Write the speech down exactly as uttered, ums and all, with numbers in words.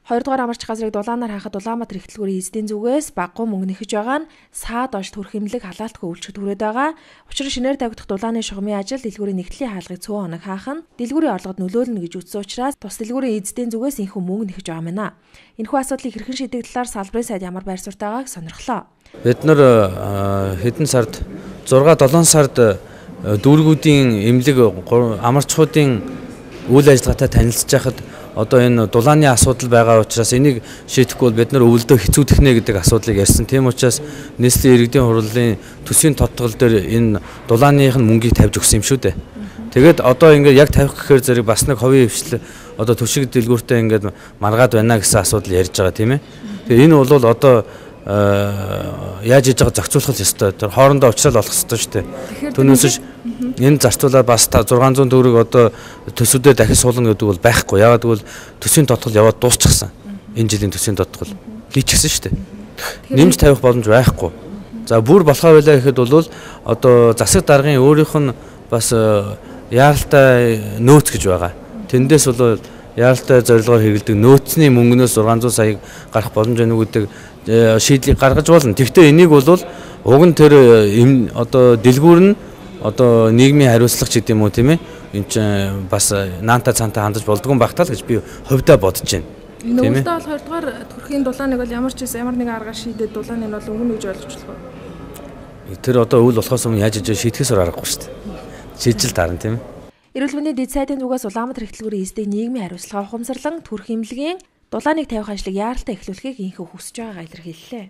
Хоёрдугаар амарч газрыг дулаанаар хаахад Улаанбаатар эхтлэгүүрийн эзэдийн зүгээс баггуу мөнгө нэхэж байгаа нь саад онш төрх хэмлэг халаалтгүй үйлчлэгт хүрээд байгаа. Учир нь шинээр тавигдах дулааны шугамын ажил дэлгүүрийн нэгтлийн хаалгыг цөөн хоног хаах нь дэлгүүрийн орлогод нөлөөлнө гэж үзсэн учраас тус дэлгүүрийн эзэдийн зүгээс энэхүү мөнгө нэхэж байгаа мэнэ. Энэхүү асуудлыг хэрхэн шийдэх талаар салбарын сайд ямар байр суурь байгааг сонирхлоо. Бид нар хэдэн сард зурга долоон сард дүүргүүдийн эмнэлэг амарчуудын үйл ажиллагаатай танилцж байхад одоо энэ дулааны асуудал байгаа учраас энийг шийдэхгүй бол бид нар өвөлдөө хэцүүдэх нэ гэдэг асуудлыг ярьсан. Тийм учраас нийслэлийн иргэдийн хурлын төсвийн тодтгол дээр энэ дулааных нь мөнгийг тавьж өгсөн юм шүү дээ. Тэгээд одоо ингээд яг тавих гэхээр зэрэг бас нэг ховын хвшил одоо төшиг дэлгүүртээ ингээд маргаад байна гэсэн асуудал ярьж байгаа тийм ээ. Тэгээ энэ бол одоо яаж хийж байгаа зохицуулах ёстой. Тэр хоорондоо уулзрал болох ёстой шүү дээ. Түүнээс энэ зарцуулаад бас зургаан зуун төгрөг одоо төсвөдөө дахин суулгана гэдэг бол байхгүй. Яагаад гэвэл төсвийн тодтгол яваад дуусчихсан. Энэ жилийн төсвийн тодтгол хийчихсэн шүү дээ. Нэмж тавих боломж байхгүй. За бүр болохоо байлаа гэхэд бол одоо засаг даргын өөрийнх нь бас яаралтай нөөц гэж байгаа. Тэндээс бол яаралтай зорилгоор хэрэгэлдэг нөөцний мөнгнөөс зургаан зуун саяг гарах боломж байна гэдэг шийдлийг гаргаж болно. Тэгвэл энийг бол уг нь тэр одоо дэлгүүр нь одоо нийгмийн хариуцлага ч гэдэг юм уу тийм ээ. Энд чинь бас наанта цаанта хандаж болдгоо багтаал гэж би хөвдөө бодож байна. Тийм ээ. Нөгөөдөө бол хоёрдугаар төрхийн дулааныг бол ямар ч байсан ямар нэгэн аргаар шийдээд дулааны нь бол өнгөн гэж ойлгочлоо. Тэр одоо үйл болохоос өмнө яаж иж шийдэхээс аргагүй шүү дээ. Шийдэл таарна тийм ээ. Эрүүл мэндийн дэд сайдын зүгээс Улаанбаатар эхтлэгүүрийн эзэдийн нийгмийн хариуцлага ухамсарлан төрх эмнэлгийн дулааныг тавих ажлыг яаралтай эхлүүлэхийг инхүү хүсэж байгаагаа илэрхийллээ.